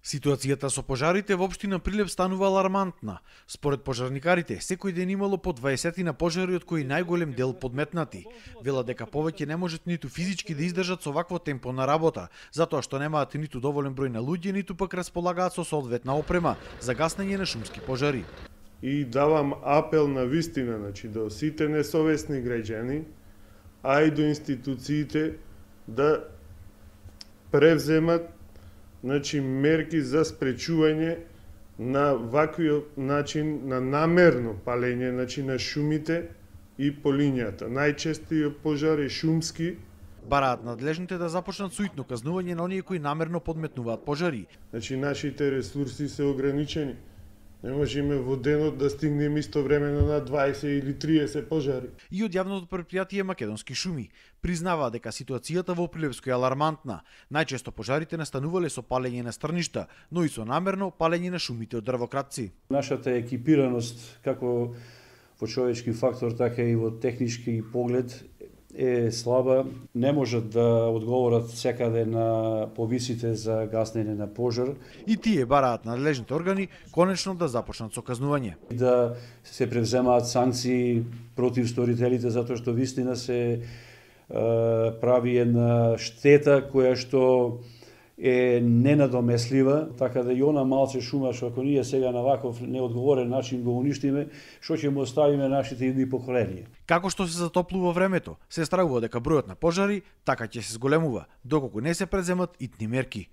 Ситуацијата со пожарите во општина Прилеп станува алармантна. Според пожарникарите, секој ден имало по 20 пожари, од кои најголем дел подметнати. Велат дека повеќе не можат ниту физички да издржат со вакво темпо на работа, затоа што немаат ниту доволен број на луѓе, ниту пак располагаат со соодветна опрема за гаснење на шумски пожари. И давам апел на вистина, до сите несовесни граѓани, а и до институциите да превземат мерки за спречување на ваквиот начин на намерно палење на шумите и полињата. Најчести пожари шумски. Бараат надлежните да започнат суитно казнување на оние кои намерно подметнуваат пожари. Нашите ресурси се ограничени. Не можеме во денот да стигнеме истовремено на 20 или 30 пожари. И од јавното претпријатие Македонски шуми признава дека ситуацијата во Прилепско е алармантна. Најчесто пожарите настанувале со палење на стрништа, но и со намерно палење на шумите од дрвократци. Нашата екипираност, како во човечки фактор, така и во технички поглед, е слаба, не можат да одговорат секаде на повисите за гаснење на пожар. И тие бараат надлежните органи конечно да започнат со казнување. Да се превземаат санкции против сторителите, затоа што вистина се прави една штета која што е ненадомеслива, така да и она малце шума што ако ние сега на ваков неодговорен начин го уништиме, што ќе му оставиме нашите идни поколенија. Како што се затоплува времето, се стравува дека бројот на пожари така ќе се зголемува, доколку не се преземат итни мерки.